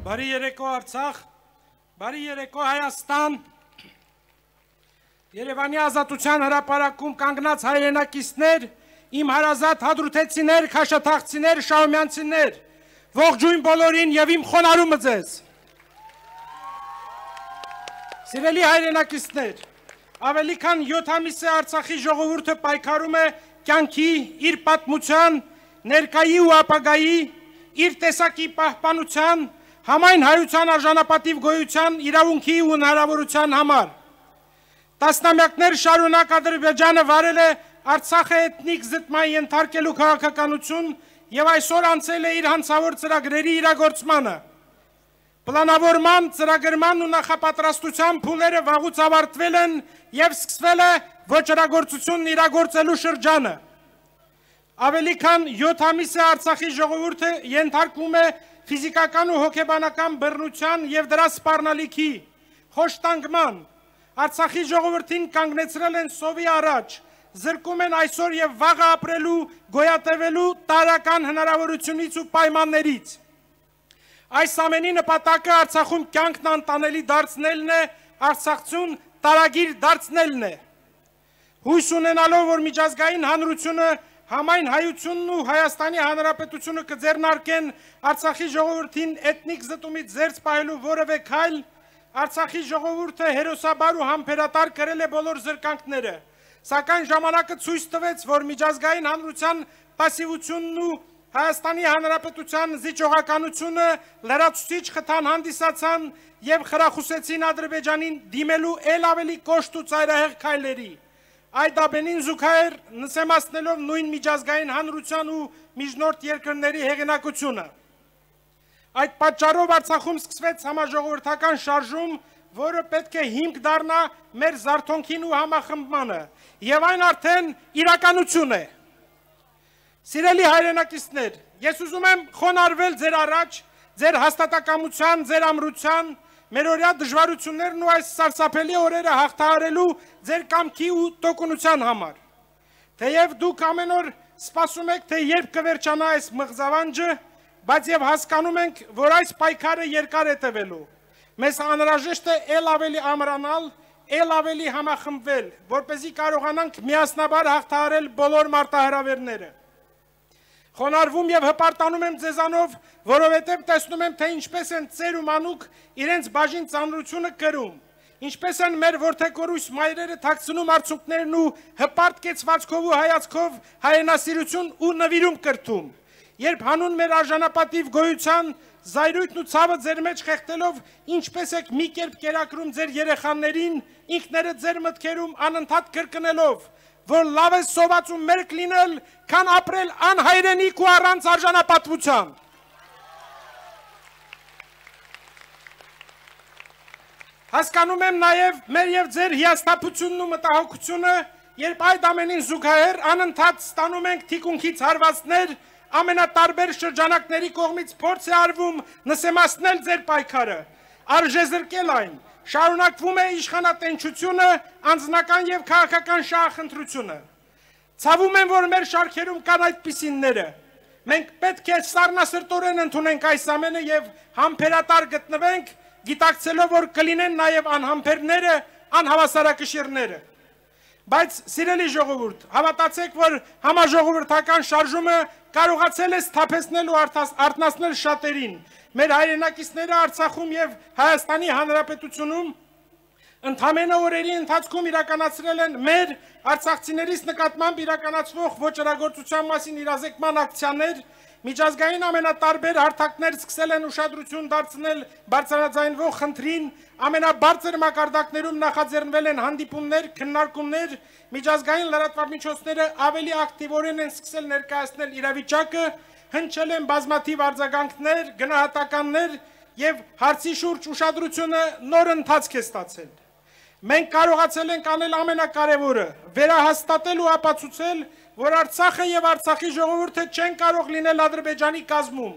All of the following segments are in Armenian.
Բարի երեկո Արցախ, բարի երեկո Հայաստան, Երևանի ազատության հրապարակում կանգնած հայրենակիցներ, իմ հարազատ հադրութեցիներ, քաշաթաղցիներ, շահումյանցիներ, ողջույն բոլորին և իմ խոնարհումը ձեզ։ Սիրելի հայրենակիցներ, ավելի քան 7 ամիս է Արցախի ժողովուրդը պայքարում է կյանքի, իր պատմության, ներկայի ու ապագայի, իր տեսակի պահպանության, համայն հայության արժանապատիվ գոյության, իրավունքի ու հնարավորության համար։ Տասնամյակներ շարունակ Ադրբեջանը վարել է Արցախը էթնիկ զտման ենթարկելու քաղաքականություն և այսօր անցել է իր հանցավոր ծրագրերի իրագործմանը։ Պլանավորման, ծրագրման ու նախապատրաստության փուլերը վաղուց ավարտվել են և սկսվել է ոչռագործությունն իրագործելու շրջանը։ Ավելի քան 7 ամիս է Արցախի ժողովուրդը ենթարկվում է ֆիզիկական ու հոգեբանական բռնության և դրա սպառնալիքի, խոշտանգման, Արցախի ժողովրդին կանգնեցրել են սովի առաջ, զրկում են այսօր և վաղը ապրելու, գոյատևելու տարրական հնարավորությունից ու պայմաններից։ Այս ամենի նպատակը Արցախում կյանքն անտանելի դարձնելն է, արցախցուն տարագիր դարձնելն է։ Հույս ունենալով, որ միջազգային հանրությունը համայն հայությունն ու Հայաստանի Հանրապետությունը կձեռնարկեն Արցախի ժողովրդին էթնիկ զտումից զերծ պահելու որևէ քայլ, Արցախի ժողովուրդը հերոսաբար ու համբերատար կրել է բոլոր զրկանքները, սակայն ժամանակը ցույց տվեց, որ միջազգային հանրության պասիվությունն ու Հայաստանի Հանրապետության զիջողականությունը լրացուցիչ խթան հանդիսացան և խրախուսեցին Ադրբեջանին դիմելու էլ ավելի կոշտ ու ծայրահեղ քայլերի։ Այդ ամենին զուգահեռ նսեմացնելով նույն միջազգային հանրության ու միջնորդ երկրների հեղինակությունը։ Այդ պատճառով Արցախում սկսվեց համաժողովրդական շարժում, որը պետք է հիմք դառնա մեր զարթոնքին ու համախմբմանը, և այն արդեն իրականություն է։ Սիրելի հայրենակիցներ, ես ուզում եմ խոնարհվել ձեր առաջ, ձեր հաստատակամության, ձեր ամրության, մերօրյա դժվարություններն ու այս սարսափելի օրերը հաղթահարելու ձեր կամքի ու տոկունության համար։ Թեև դուք ամեն օր սպասում եք, թե երբ կվերջանա այս մղձավանջը, բայց և հասկանում ենք, որ այս պայքարը երկար է տևելու։ Մեզ անհրաժեշտ է էլ ավելի ամրանալ, էլ ավելի համախմբվել, որպեսզի կարողանանք միասնաբար հաղթահարել բոլոր մարտահրավերները։ Խոնարհվում և հպարտանում եմ ձեզանով, որովհետև տեսնում եմ, թե ինչպես են ծեր ու մանուկ իրենց բաժին ծանրությունը կրում, ինչպես են մեր որդեգորույս մայրերը թաքցնում արցունքներն ու հպարտ կեցվածքով ու հայացքով հայրենասիրություն ու նվիրում կրթում, երբ հանուն մեր արժանապատիվ գոյության զայրույթն ու ցավը ձեր մեջ խեղդելով, ինչպես եք մի կերպ կերակրում ձեր երեխաներին, ինքներդ ձեր մտքերում անընդհատ կրկնելով, որ լավ է սոված ու մերկ լինել, քան ապրել անհայրենիք ու առանց արժանապատվության։ Հասկանում եմ նաև մեր և ձեր հիասթափությունն ու մտահոգությունը, երբ այդ ամենին զուգահեռ անընդհատ ստանում ենք թիկունքից հարվածներ, ամենատարբեր շրջանակների կողմից փորձ է արվում նսեմացնել ձեր պայքարը, արժեզրկել այն, շարունակվում է իշխանատենչությունը, անձնական և քաղաքական շահախնդրությունը։ Ցավում եմ, որ մեր շարքերում կան այդպիսինները։ Մենք պետք է սառնասրտորեն ընդունենք այս ամենը և համբերատար գտնվենք, գիտակցելով, որ կլինեն նաև անհամբերները, անհավասարակշիռները։ Բայց սիրելի ժողովուրդ, հավատացեք, որ համաժողովրդական շարժումը կարողացել է սթափեցնել ու արթնացնել շատերին։ Մեր հայրենակիցները Արցախում և Հայաստանի Հանրապետությունում ընդամենը օրերի ընթացքում իրականացրել են մեր արցախցիներից նկատմամբ իրականացվող ոչռագործության մասին իրազեկման ակցիաներ, միջազգային ամենատարբեր հարթակներ սկսել են ուշադրություն դարձնել բարձրաձայնվող խնդրին, ամենաբարձր մակարդակներում նախաձեռնվել են հանդիպումներ, քննարկումներ, միջազգային լրատվամիջոցները ավելի ակտիվորեն են սկսել ներկայացնել իրավիճակը, հնչել են բազմաթիվ արձագանքներ, գնահատականներ և հարցի շուրջ ուշադրությունը նոր ընթացք է ստացել։ Մենք կարողացել ենք անել ամենակարևորը, վերահաստատել ու ապացուցել, որ Արցախը և Արցախի ժողովուրդը չեն կարող լինել Ադրբեջանի կազմում,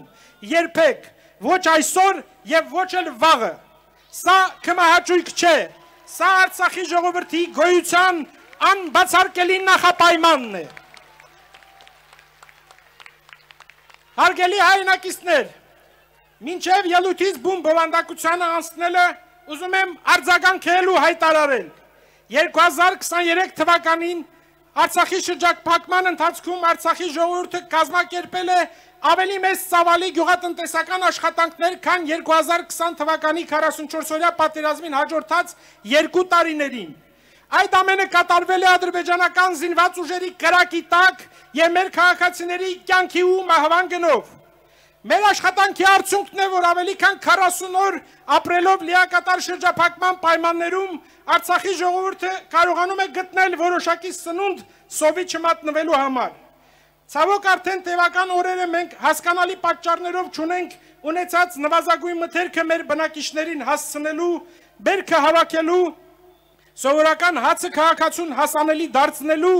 երբեք, ոչ այսօր և ոչ էլ վաղը։ Սա քմահաճույք չէ, սա Արցախի ժողովրդի գոյության անբացարկելի նախապայմանն է։ Հարգելի հայրենակիցներ, Մինչև ելույթից բուն բովանդակությանը անցնելը ուզում եմ արձագանքելու հայտարարել։ 2023 թվականին Արցախի շրջափակման ընթացքում Արցախի ժողովուրդը կազմակերպել է ավելի մեծ ծավալի գյուղատնտեսական աշխատանքներ, քան 2020 թվականի 44-օրյա պատերազմին հաջորդած 2 տարիներին։ Այդ ամենը կատարվել է ադրբեջանական զինված ուժերի կրակի տակ եւ մեր քաղաքացիների կյանքի ու մահվան գնով։ Մեր աշխատանքի արդյունքն է, որ ավելի քան 40 օր ապրելով լիակատար շրջափակման պայմաններում Արցախի ժողովուրդը կարողանում է գտնել որոշակի սնունդ սովի չմատնվելու համար։ Ցավոք արդեն տևական օրերը մենք հասկանալի պատճառներով չունենք ունեցած նվազագույն մթերքը մեր բնակիչներին հասցնելու, բերքը հավաքելու, սովորական հացը քաղաքացուն հասանելի դարձնելու,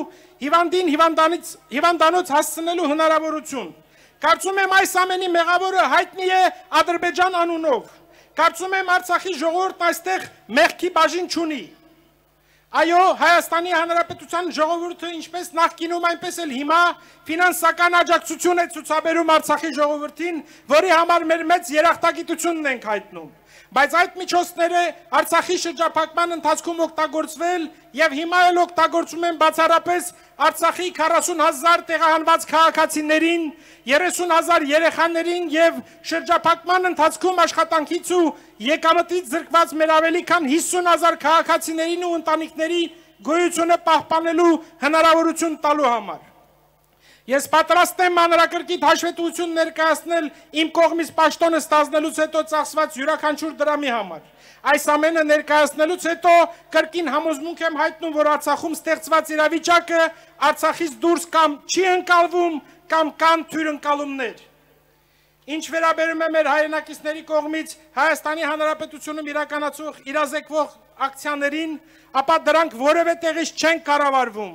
հիվանդին հիվանդանոց հասցնելու հնարավորություն։ Կարծում եմ այս ամենի մեղավորը հայտնի է Ադրբեջան անունով։ Կարծում եմ Արցախի ժողովուրդն այստեղ մեղքի բաժին չունի։ Այո, Հայաստանի Հանրապետության ժողովուրդը ինչպես նախկինում, այնպես էլ հիմա ֆինանսական աջակցություն է ցուցաբերում Արցախի ժողովրդին, որի համար մեր մեծ երախտագիտությունն ենք հայտնում։ Բայց այդ միջոցները Արցախի շրջափակման ընթացքում օգտագործվել եւ հիմա էլ օգտագործում են բացառապես Արցախի 40,000 տեղահանված քաղաքացիներին, 30,000 երեխաներին եւ շրջափակման ընթացքում աշխատանքից ու եկամտից զրկված մեր ավելի քան 50,000 քաղաքացիներին ու ընտանիքների գոյությունը պահպանելու հնարավորություն տալու համար։ Ես պատրաստ եմ մանրակրկիտ հաշվետվություն ներկայացնել իմ կողմից պաշտոնը ստանձնելուց հետո ծախսված յուրաքանչյուր դրամի համար։ Այս ամենը ներկայացնելուց հետո կրկին համոզմունք եմ հայտնում, որ Արցախում ստեղծված իրավիճակը Արցախից դուրս կամ չի ընկալվում, կամ կան թույլընկալումներ։ Ինչ վերաբերում է մեր հայրենակիցների կողմից Հայաստանի Հանրապետությունում իրականացող իրազեկվող ակցիաներին, ապա դրանք որևէ տեղից չեն կառավարվում։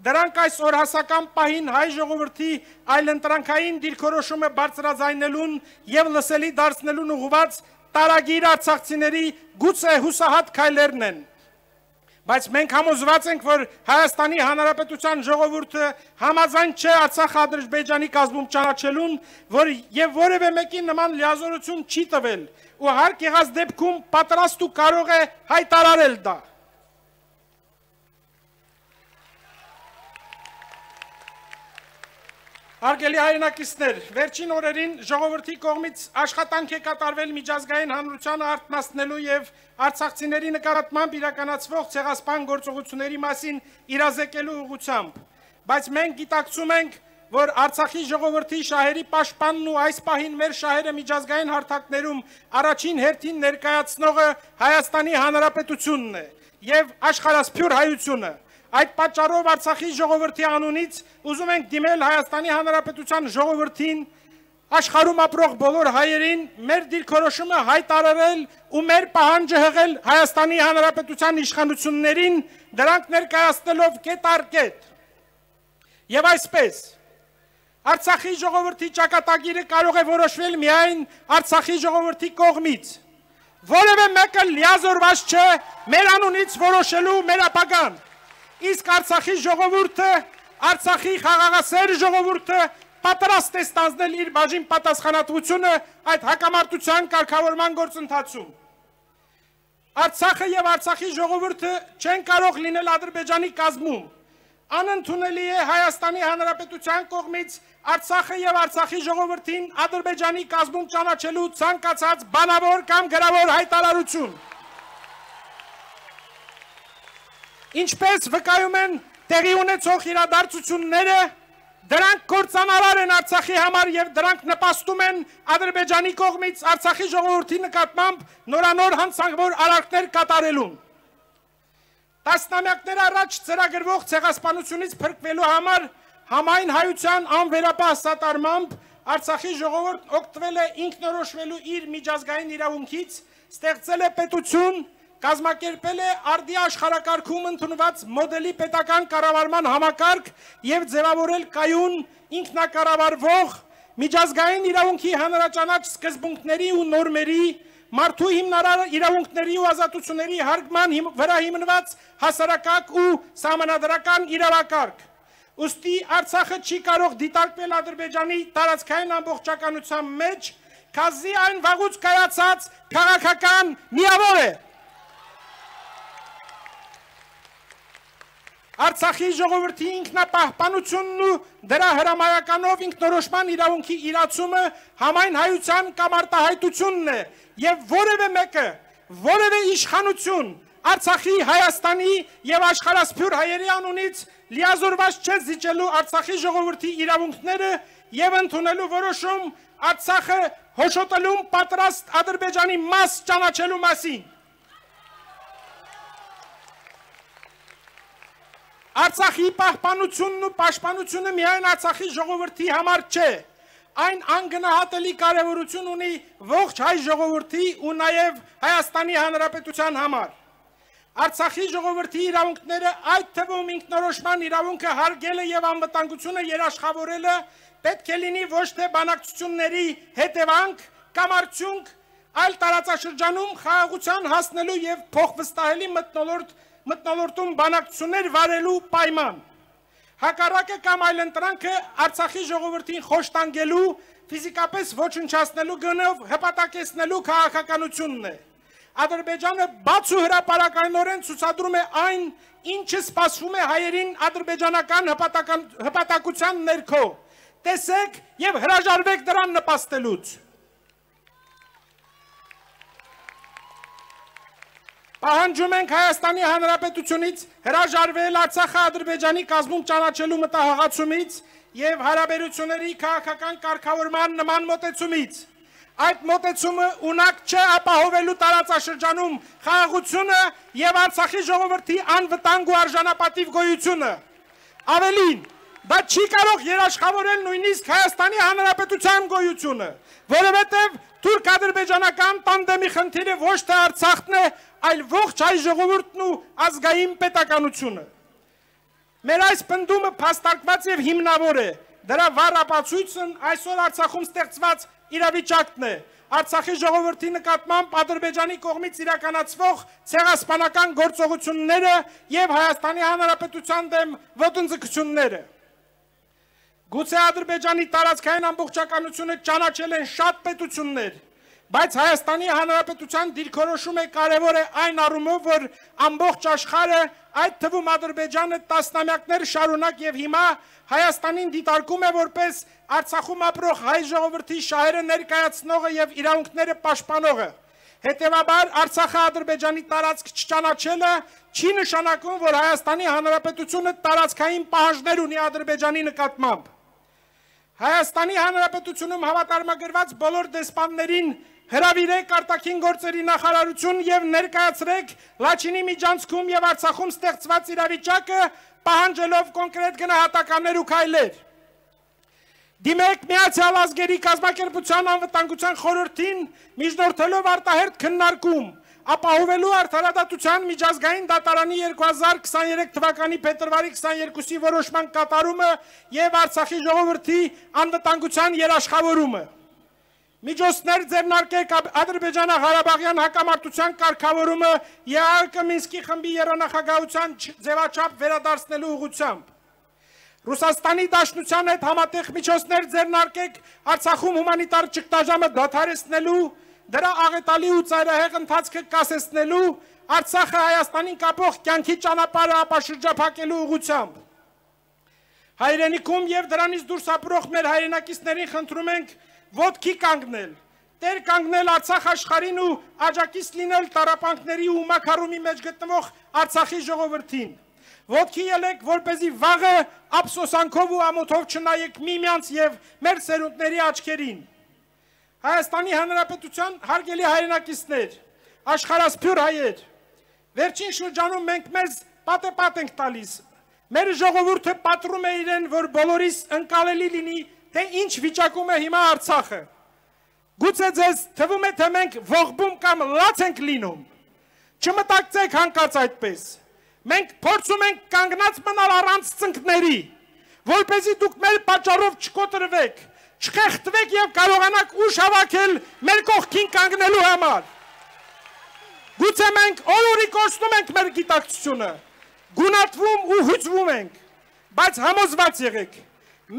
Դրանք այս օրհասական պահին հայ ժողովրդի այլընտրանքային դիրքորոշումը բարձրաձայնելուն եւ լսելի դարձնելուն ուղղված տարագիր արցախցիների գուցե հուսահատ քայլերն են։ Բայց մենք համոզված ենք, որ Հայաստանի Հանրապետության ժողովուրդը համաձայն չէ Արցախ-Ադրբեջանի կազմում ճանաչելուն, որ եւ որևէ մեկին նման լիազորություն չի տվել, ու հարկ եղած դեպքում պատրաստ ու կարող է հայտարարել դա։ Հարգելի հայրենակիցներ, վերջին օրերին ժողովրդի կողմից աշխատանք է կատարվել միջազգային հանրությանը արթնացնելու եւ արցախցիների նկատմամբ իրականացվող ցեղասպան գործողությունների մասին իրազեկելու ուղղությամբ, բայց մենք գիտակցում ենք, որ Արցախի ժողովրդի շահերի պաշտպանն ու այս պահին մեր շահերը միջազգային հարթակներում առաջին հերթին ներկայացնողը Հայաստանի Հանրապետությունն է եւ աշխարհասփյուր հայությունը։ Այդ պատճառով Արցախի ժողովրդի անունից ուզում ենք դիմել Հայաստանի Հանրապետության ժողովրդին, աշխարհում ապրող բոլոր հայերին մեր դիրքորոշումը հայտարարել ու մեր պահանջը հղել Հայաստանի Հանրապետության իշխանություններին, դրանք ներկայացնելով կետ առ կետ։ Եվ այսպես, Արցախի ժողովրդի ճակատագիրը կարող է որոշվել միայն Արցախի ժողովրդի կողմից։ Որևէ մեկը լիազորված չէ մեր անունից որոշելու մեր ապագան։ Իսկ Արցախի ժողովուրդը, Արցախի խաղաղասեր ժողովուրդը պատրաստ է ստանձնել իր բաժին պատասխանատվությունը այդ հակամարտության կարգավորման գործընթացում։ Արցախը եւ Արցախի ժողովուրդը չեն կարող լինել Ադրբեջանի կազմում։ Անընդունելի է Հայաստանի Հանրապետության կողմից Արցախը եւ Արցախի ժողովրդին Ադրբեջանի կազմում ճանաչելու ցանկացած բանավոր կամ գրավոր հայտարարություն։ Ինչպես վկայում են տեղի ունեցող իրադարձությունները, դրանք կործանարար են Արցախի համար եւ դրանք նպաստում են Ադրբեջանի կողմից Արցախի ժողովրդի նկատմամբ նորանոր հանցավոր արարքներ կատարելուն։ Տասնամյակներ առաջ ծրագրվող ցեղասպանությունից փրկվելու համար համայն հայության անվերապահ սատարմամբ Արցախի ժողովուրդն օգտվել է ինքնորոշվելու իր միջազգային իրավունքից, ստեղծել է պետություն, կազմակերպել է արդի աշխարհակարգում ընդունված մոդելի պետական կառավարման համակարգ եւ ձևավորել կայուն ինքնակառավարվող միջազգային իրավունքի հանրաճանաչ սկզբունքների ու նորմերի, մարդու հիմնարար իրավունքների ու ազատությունների հարգման վրա հիմնված հասարակակ ու սահմանադրական իրավակարգ։ Ուստի Արցախը չի կարող դիտարկվել Ադրբեջանի տարածքային ամբողջականության մեջ, քազի այն վաղուց կայացած քաղաքական միավոր է։ Արցախի ժողովրդի ինքնապահպանությունն ու դրա հրամայականով ինքնորոշման իրավունքի իրացումը համայն հայության կամ արտահայտությունն է եւ որևէ մեկը, որևէ իշխանություն Արցախի, Հայաստանի եւ աշխարհասփյուր հայերի անունից լիազորված չէ զիջելու Արցախի ժողովրդի իրավունքները եւ ընդունելու որոշում Արցախը հոշոտելու պատրաստ Ադրբեջանի մաս ճանաչելու մասին։ Արցախի պահպանությունն ու պաշտպանությունը միայն Արցախի ժողովրդի համար չէ, այն անգնահատելի կարևորություն ունի ողջ հայ ժողովրդի ու նաև Հայաստանի Հանրապետության համար։ Արցախի ժողովրդի իրավունքները, այդ թվում ինքնորոշման իրավունքը հարգելը եւ անվտանգությունը երաշխավորելը պետք է լինի ոչ թե բանակցությունների հետևանք կամ արդյունք, այլ տարածաշրջանում խաղաղության հասնելու եւ փոխվստահելի մթնոլորտում բանակցություններ վարելու պայման։ Հակառակը կամ այլընտրանքը Արցախի ժողովրդին խոշտանգելու, ֆիզիկապես ոչնչացնելու գնով հպատակեցնելու քաղաքականությունն է։ Ադրբեջանը բաց ու հրապարակայնորեն ցուցադրում է այն, ինչը սպասվում է հայերին ադրբեջանական հպատակության ներքո։ Տեսեք եւ հրաժարվեք դրան նպաստելուց։ Պահանջում ենք Հայաստանի Հանրապետությունից հրաժարվել Արցախը Ադրբեջանի կազմում ճանաչելու մտահղացումից եւ հարաբերությունների քաղաքական կարգավորման նման մոտեցումից։ Այդ մոտեցումը ունակ չէ ապահովելու տարածաշրջանում խաղաղությունը եւ Արցախի ժողովրդի անվտանգ ու արժանապատիվ գոյությունը։ Ավելին, դա չի կարող երաշխավորել նույնիսկ Հայաստանի Հանրապետության գոյությունը, որովհետեւ թուրք-ադրբեջանական տանդեմի խնդիրը ոչ թե Արցախն է, այլ ողջ հայ ժողովուրդն ու ազգային պետականությունը։ Մեր այս պնդումը փաստարկված եւ հիմնավոր է։ Դրա վառ ապացույցն այսօր Արցախում ստեղծված իրավիճակն է։ Արցախի ժողովրդի նկատմամբ Ադրբեջանի կողմից իրականացվող ցեղասպանական գործողությունները եւ Հայաստանի Հանրապետության դեմ ոտնձգությունները։ Գուցե Ադրբեջանի տարածքային ամբողջականությունը ճանաչել են շատ պետություններ, բայց Հայաստանի Հանրապետության դիրքորոշումը կարևոր է այն առումով, որ ամբողջ աշխարհը, այդ թվում Ադրբեջանը տասնամյակներ շարունակ եւ հիմա Հայաստանին դիտարկում է որպես Արցախում ապրող հայ ժողովրդի շահերը ներկայացնողը եւ իրավունքները պաշտպանողը։ Հետևաբար Արցախը Ադրբեջանի տարածք չճանաչելը չի նշանակում, որ Հայաստանի Հանրապետությունը տարածքային պահանջներ ունի Ադրբեջանի նկատմամբ։ Հայաստանի Հանրապետությունում հավատարմագրված բոլոր դեսպաններին հրավիրեք արտաքին գործերի նախարարություն եւ ներկայացրեք Լաչինի միջանցքում եւ Արցախում ստեղծված իրավիճակը պահանջելով կոնկրետ գնահատականներ ու քայլեր։ Դիմեք Միացյալ Ազգերի կազմակերպության անվտանգության խորհրդին միջնորդելով արտահերթ քննարկում, ապահովելու արդարադատության միջազգային դատարանի 2023 թվականի փետրվարի 22-ի որոշման կատարումը եւ Արցախի ժողովրդի անվտանգության երաշխավորումը։ Միջոցներ ձեռնարկեք Ադրբեջանա-Ղարաբաղյան հակամարտության կարգավորումը ԵԱՀԿ Մինսկի խմբի եռանախագահության ձևաչափ վերադարձնելու ուղղությամբ։ Ռուսաստանի Դաշնության հետ համատեղ միջոցներ ձեռնարկեք Արցախում հումանիտար ճգնաժամը դադարեցնելու, դրա աղետալի ու ծայրահեղ ընթացքը կասեցնելու, Արցախը Հայաստանին կապող կյանքի ճանապարհը ապաշրջափակելու ուղղությամբ։ Հայրենիքում եւ դրանից դուրս ապրող մեր հայրենակիցներին խնդրում ենք ոտքի կանգնել, տեր կանգնել Արցախ աշխարհին ու աջակից լինել տառապանքների ու մակարումի մեջ գտնվող Արցախի ժողովրդին։ Ոտքի ելեք, որպեսզի վաղը ափսոսանքով ու ամոթով չնայեք միմյանց եւ մեր սերունդների աչքերին։ Հայաստանի Հանրապետության հարգելի հայրենակիցներ, աշխարհասփյուր հայեր, վերջին շրջանում մենք մեզ պատեպատ ենք տալիս։ Մեր ժողովուրդը պատռում է իրեն, որ բոլորիս ընկալելի լինի, թե ինչ վիճակում է հիմա Արցախը։ Գուցե ձեզ թվում է, թե մենք ողբում կամ լաց ենք լինում։ Չմտածեք հանկարծ այդպես։ Մենք փորձում ենք կանգնած մնալ առանց ծնկների, որպեսզի դուք մեր պատճառով չկոտրվեք, չխեղդվեք եւ կարողանաք ուժ հավաքել մեր կողքին կանգնելու համար։ Գուցե մենք օրորի կորցնում ենք մեր գիտակցությունը, գունատվում ու հուզվում ենք, բայց համոզված եղեք,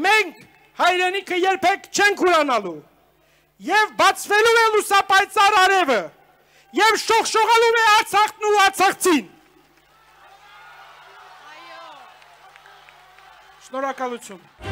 մենք հայրենիքը երբեք չենք ուրանալու։ եւ բացվելու է լուսապայծառ արևը եւ շողշողալու է Արցախն ու արցախցին։ Շնորհակալություն։